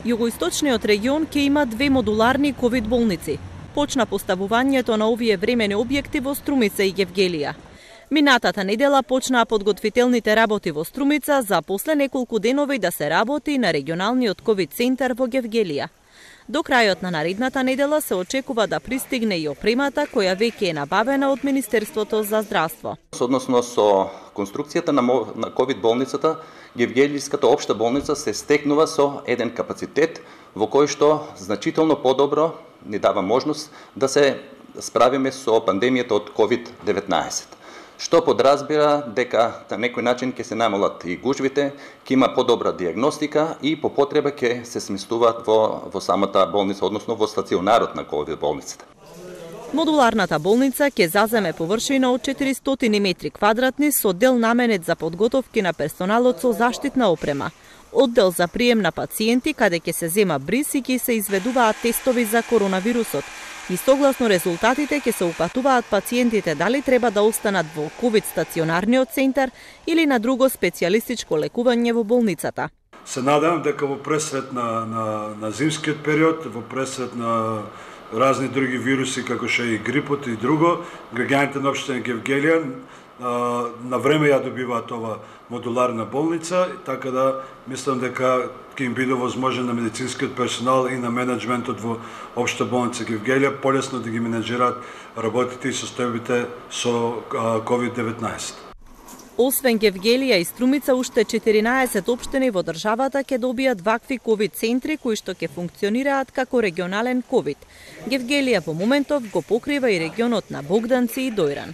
Југоисточниот регион ќе има 2 модуларни ковид болници. Почна поставувањето на овие времени објекти во Струмица и Гевгелија. Минатата недела почнаа подготвителните работи во Струмица за после неколку денови да се работи на регионалниот ковид центар во Гевгелија. До крајот на наредната недела се очекува да пристигне и опремата која веќе е набавена од Министерството за здравство. Односно со конструкцијата на ковид болницата, Гевгелиската општа болница се стекнува со еден капацитет во кој што значително подобро ни дава можност да се справиме со пандемијата од COVID-19. Што подразбира дека на некој начин ќе се намалат и гужвите, ќе има подобра диагностика и по потреба ќе се сместуваат во самата болница, односно во стационарот на ковид болницата. Модуларната болница ќе заземе површина од 400 метри квадратни со дел наменет за подготовки на персоналот со заштитна опрема, оддел за прием на пациенти каде ќе се зема бриз и ќе се изведуваат тестови за коронавирусот, и согласно резултатите ќе се упатуваат пациентите дали треба да останат во ковид стационарниот центар или на друго специјалистичко лекување во болницата. Се надевам дека во пресрет на зимскиот период, во пресрет на разни други вируси како што е и грипот и друго, граѓаните на општина Гевгелија на време ја добиваат ова модуларна болница, така да мислам дека ќе им биде возможен на медицинскиот персонал и на менеджментот во општа болница Гевгелија полесно да ги менеджираат работите и состојбите со COVID-19. Освен Гевгелија и Струмица, уште 14 општини во државата ќе добијат вакви ковид центри кои што ќе функционираат како регионален ковид. Гевгелија во моментов го покрива и регионот на Богданци и Дојран.